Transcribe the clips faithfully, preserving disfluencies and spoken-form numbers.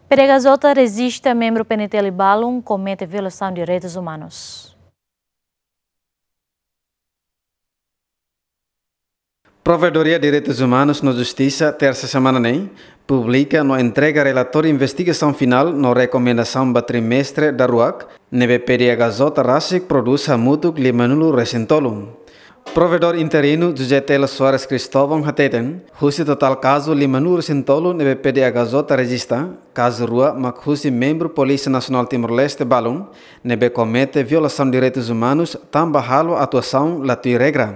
P D H J rejista membru P N T L balun komete violasaun direitus umanus. Provedoria Direitus Umanus no Justisa, tersa semana ne'e, publika no entrega relatóriu investigasaun finál no rekomendasaun ba trimestre daruak, ne'ebé P D H J rasik prodús hamutuk limanulu-resin-tolu. Provedór interinu José Telo Soares Cristóvão hateten, husi totál kazu limanulu-resin-tolu ne'ebé P D H J rejista, kazu rua mak husi membru Polísia Nasionál Timor-Leste balun, ne'ebé komete violasaun direitus umanus tanba halo atuasaun la tuir regra.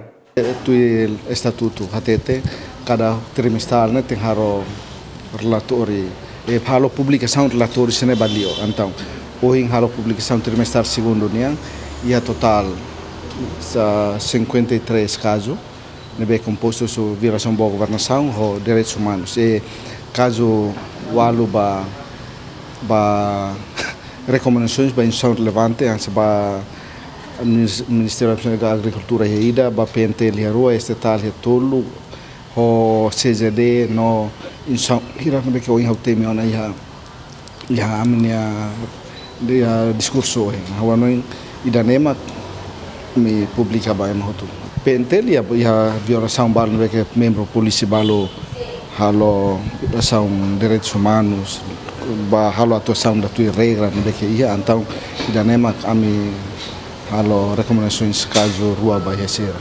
Tuir estatutu hatete, kada trimestral ne'e tenke halo relatóriu, eh, halo publikasaun relatóriu sira-ne'e ba li'ur. Entaun, ohin halo publikasaun trimestral segundu nian, iha totál sa cinquenta e três kazu, ne'ebé kompostu husi violasaun ba governasaun ho direitus umanus. I kazu ualu ba, ba rekomendasoens ba instituisaun relevante, hanesan ba Minis-, Ministériu Agrikultura iha ida, ba P N T L iha rua, Estatal iha tolu, ho C J D no instituisaun hira ne'ebé ke ohin ha'u temi ona iha, iha ami-nia, iha diskursu ohin. Ha'u hanoin ida-ne'e mak ami publika ba ema hotu. P N T L iha, iha violasaun balu ne'ebé ke membru polísia balu halo violasaun direitus umanus, ba halo atuasaun la tuir regra ne'ebé ke iha, entaun ida-ne'e mak ami halo rekomendasoens kazu rua ba iha sira.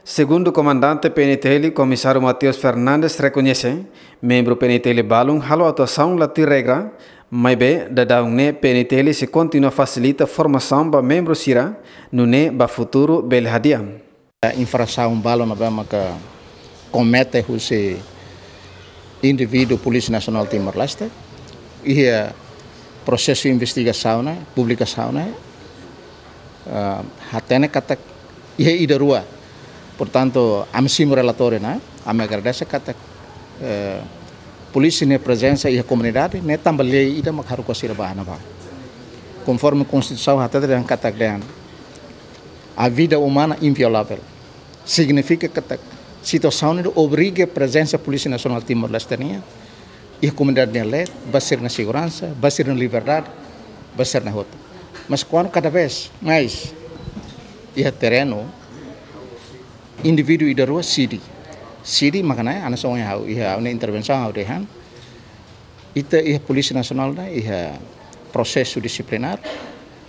Segundu komandante P N T L, Komisáriu Mateus Fernandes rekoñese, membru P N T L balun halo atuasaun la tuir regra, maibé daudaun ne'e P N T L sei kontinua fasilita formasaun ba membru sira, nune'e ba futuru bele hadi'a. Infrasaun balu ne'ebé maka komete husi indivíduu Polísia Nasionál Timor-Leste, iha prosesu investigasaun ne'e, publikasaun ne'e, eh, hatene katak iha ida rua. Portantu, ami simu relatóriu ne'e, ami agradese katak, eh, polísia nia prezensa iha komunidade, ne'e tanba lei ida mak haruka sira ba ne'ebá. Konforme Konstituisaun hatete dehan katak dehan, a vida humana inviolável. Signifika katak situasaun ne'e obriga prezensa Polísia Nasionál Timor-Leste nian iha komunidade nia leet, ba sira-nia seguransa, ba sira-nia liberdade, ba sira-nia hotu. Mas kuandu kada vez mais iha terrenu, indivíduu ida rua sidi. Sidi mak ne'e, hanesan ohin ha'u, iha ha'u-nia intervensaun ha'u dehan, ita iha Polísia Nasionál ne'e iha prosesu disiplinár,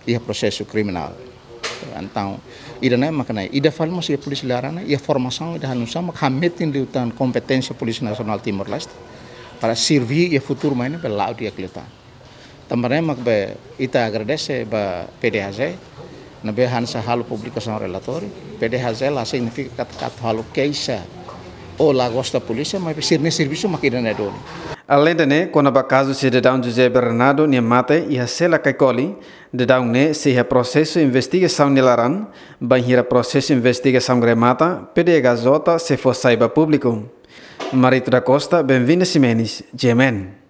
iha prosesu kriminál. Entaun, ida-ne'e mak ne'e, ida fali mós iha polísia laran ne'e, iha formasaun ida hanesan mak hametin liután kompeténsia Polísia Nasionál Timor-Leste, para serví iha futuru mai ne'e, bele la'o di'ak liután. Tanba ne'e mak be ita agradese ba P D H J, ne'ebé hanesan halo publikasaun relatóriu, P D H J la signifika katak atu halo keixa ou la gosta polísia, maibé sira-nia servisu mak ida-ne'e duni. Aleinde ne'e, kona-ba kazu sidadaun José Bernardo nia mate iha sela Caicoli, daudaun ne'e sei iha prosesu investigasaun nia laran, bainhira prosesu investigasaun remata, P D H J sei fó sai ba públiku. Marito da Costa, Benvinda Ximenes, G M N.